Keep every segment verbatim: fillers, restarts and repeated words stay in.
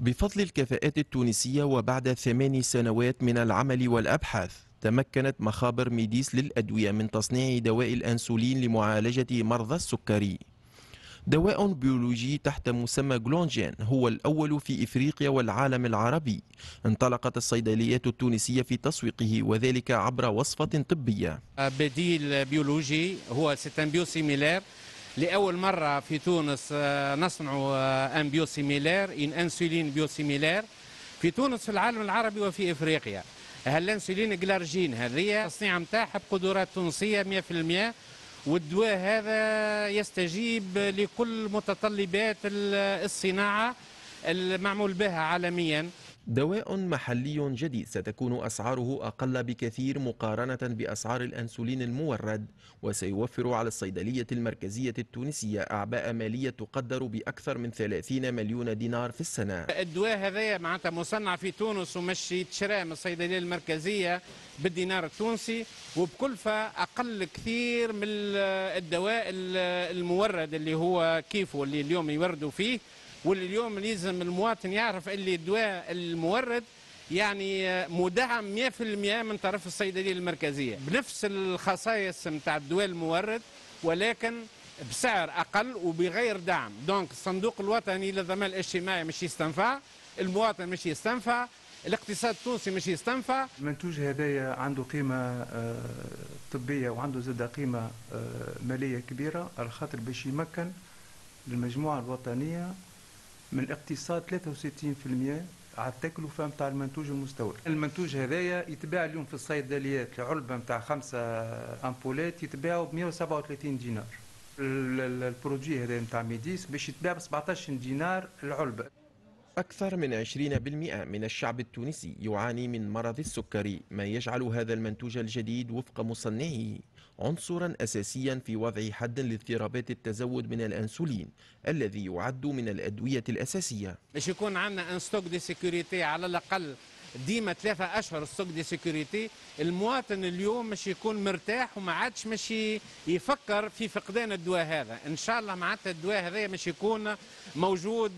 بفضل الكفاءات التونسية وبعد ثماني سنوات من العمل والأبحاث، تمكنت مخابر ميديس للأدوية من تصنيع دواء الأنسولين لمعالجة مرضى السكري. دواء بيولوجي تحت مسمى جلونجين هو الأول في إفريقيا والعالم العربي. انطلقت الصيدليات التونسية في تسويقه وذلك عبر وصفة طبية. بديل بيولوجي هو c'est un biosimilaire. لأول مرة في تونس نصنع un biosimilaire، une insuline biosimilaire في تونس، في العالم العربي وفي إفريقيا. هالانسولين glargine هذه التصنيع نتاعها بقدرات تونسية مية في المية، والدواء هذا يستجيب لكل متطلبات الصناعة المعمول بها عالميا. دواء محلي جديد ستكون أسعاره أقل بكثير مقارنة بأسعار الأنسولين المورد، وسيوفر على الصيدلية المركزية التونسية أعباء مالية تقدر بأكثر من ثلاثين مليون دينار في السنة. الدواء هذا معناتها مصنع في تونس ومش يتشرى من الصيدلية المركزية بالدينار التونسي وبكلفة أقل كثير من الدواء المورد اللي هو كيفه اللي اليوم يوردوا فيه. واللي اليوم لازم المواطن يعرف اللي الدواء المورد يعني مدعم مية في المية من طرف الصيدلية المركزية بنفس الخصائص نتاع الدواء المورد، ولكن بسعر اقل وبغير دعم. donc الصندوق الوطني للضمان الاجتماعي مش يستنفع، المواطن مش يستنفع، الاقتصاد التونسي مش يستنفع. المنتوج هذايا عنده قيمة آه، طبية وعنده زاد قيمة آه، مالية كبيرة، على خاطر باش يمكن المجموعة الوطنية من اقتصاد ثلاثة وستين في المية على التكلفة نتاع المنتوج المستورد. المنتوج هذايا يتباع اليوم في الصيدليات، العلبة نتاع خمسة أمبولات يتباعوا ب مية وسبعة وثلاثين دينار. ال produit هذا نتاع ميديس باش يتباع ب سبعطاش دينار العلبة. أكثر من عشرين في المئة من الشعب التونسي يعاني من مرض السكري، ما يجعل هذا المنتوج الجديد وفق مصنعه عنصرا أساسيا في وضع حد لاضطرابات التزود من الأنسولين الذي يعد من الأدوية الأساسية. باش يكون عندنا un stock de sécurité على الأقل ديما ثلاثة أشهر stock de sécurité. المواطن اليوم مش يكون مرتاح وما عادش مش يفكر في فقدان الدواء هذا. إن شاء الله معناتها الدواء هذا مش يكون موجود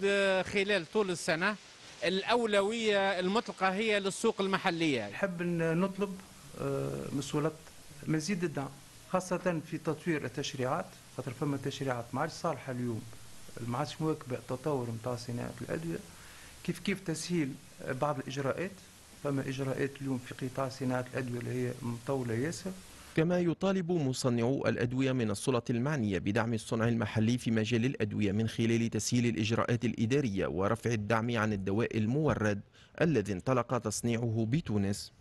خلال طول السنة. الأولوية المطلقة هي للسوق المحلية. نحب نطلب آه، من السلطات مزيد الدعم، خاصة في تطوير التشريعات، خاطر فما تشريعات ما عادش صالحة اليوم، ما عادش مواكبة التطور نتاع صناعة الأدوية. كيف كيف تسهيل بعض الإجراءات، فما إجراءات اليوم في قطاع صناعة الأدوية اللي هي مطولة ياسر. كما يطالب مصنعو الأدوية من السلط المعنية بدعم الصنع المحلي في مجال الأدوية من خلال تسهيل الإجراءات الإدارية ورفع الدعم عن الدواء المورد الذي انطلق تصنيعه بتونس.